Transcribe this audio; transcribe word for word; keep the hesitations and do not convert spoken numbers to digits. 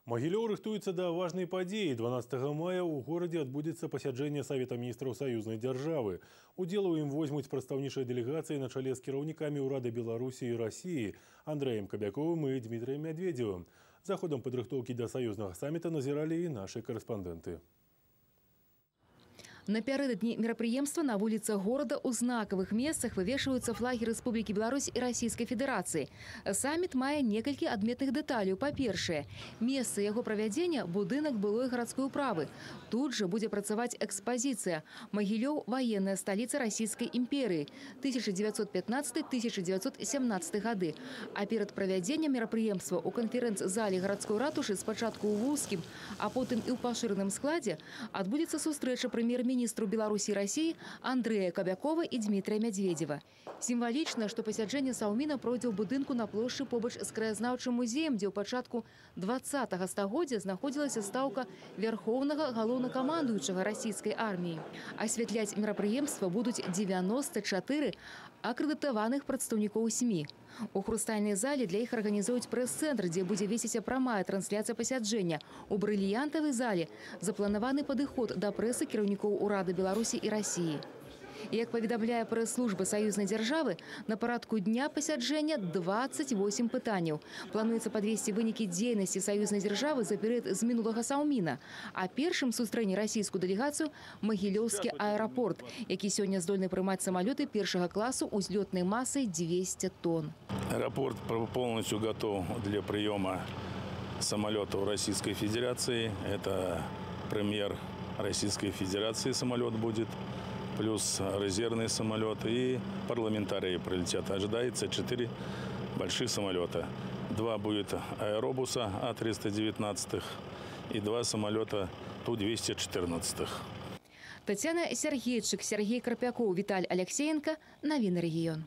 Магілёў рыхтуецца да важнай падзеі. дванаццатага мая ў горадзе адбудзецца пасяджэнне Савета міністраў саюзнай дзяржавы. Удзел у ім возьмуць прадстаўнічыя дэлегацыі на чале з кіраўнікамі ўрада Беларусі і Расіі Андрэем Кабяковым і Дмітрием Медведевым. За ходам падрыхтоўкі да саюзнага самміта назіралі і нашы карэспандэнты. Напярэдадні мерапрыемства на вуліцах горада ў знакавых месцах вывешваюцца флагі Рэспублікі Беларусь і Расійскай Федэрацыі. Самміт мае некалькі адметных дэталяў. Па-першае, месца яго правядзення – будынак былой гарадской управы. Тут жа будзе працаваць экспазіцыя «Магілёў – ваенная сталіца Расійскай імперыі тысяча дзевяцьсот пятнадцатый — тысяча дзевяцьсот сямнадцатый гады. А перад правядзеннем мерапрыемства ў канферэнц-зале гарадской ратушы спачатку ў вузкім, а потым і ў пашыраным складзе адбудзецца сустрэча прэм'ер-міністра министру Беларуси и России Андрея Кобякова и Дмитрия Медведева. Символично, что пасяджэнне Саўміна пройдзе ў будынку на плошчы побач з краязнаўчым музеем, дзе ў пачатку двадцатага стагоддзя знаходзілася стаўка вярхоўнага галоўнакамандуючага расійскай арміі. Асвятляць мерапрыемства будуць дзевяноста чатыры акрэдытаваных прадстаўнікоў СМИ. У хрустальнай зале для іх арганізуюць прэс-цэнтр, дзе будзе весіцца прамая трансляцыя пасяджэння. У брыльянтавай зале запланаваны падыход да прэсы кіраўнікоў урада Беларусі і Расіі. Як паведамляе прэс-служба саюзнай дзяржавы, на парадку дня пасяджэння дваццаць восем пытанняў. Плануецца падвесці вынікі дзейнасці саюзнай дзяржавы за перыяд з мінулага Саўміна. А першым сустрэне расійскую дэлегацыю Магілёўскі аэрапорт, які сёння здольны прымаць самалёты першага класу узлётнай масай двести тонн. Аэропорт полностью готов для приема самолетов Российской Федерации. Это премьер Российской Федерации самолет будет, плюс резервный самолет, и парламентарии прилетят. Ожидается четыре больших самолета. Два будет аэробуса А триста девятнадцать и два самолета Ту двести четырнадцать. Татьяна Сергейчик, Сергей Карпяков, Виталий Алексеенко. Новины регион.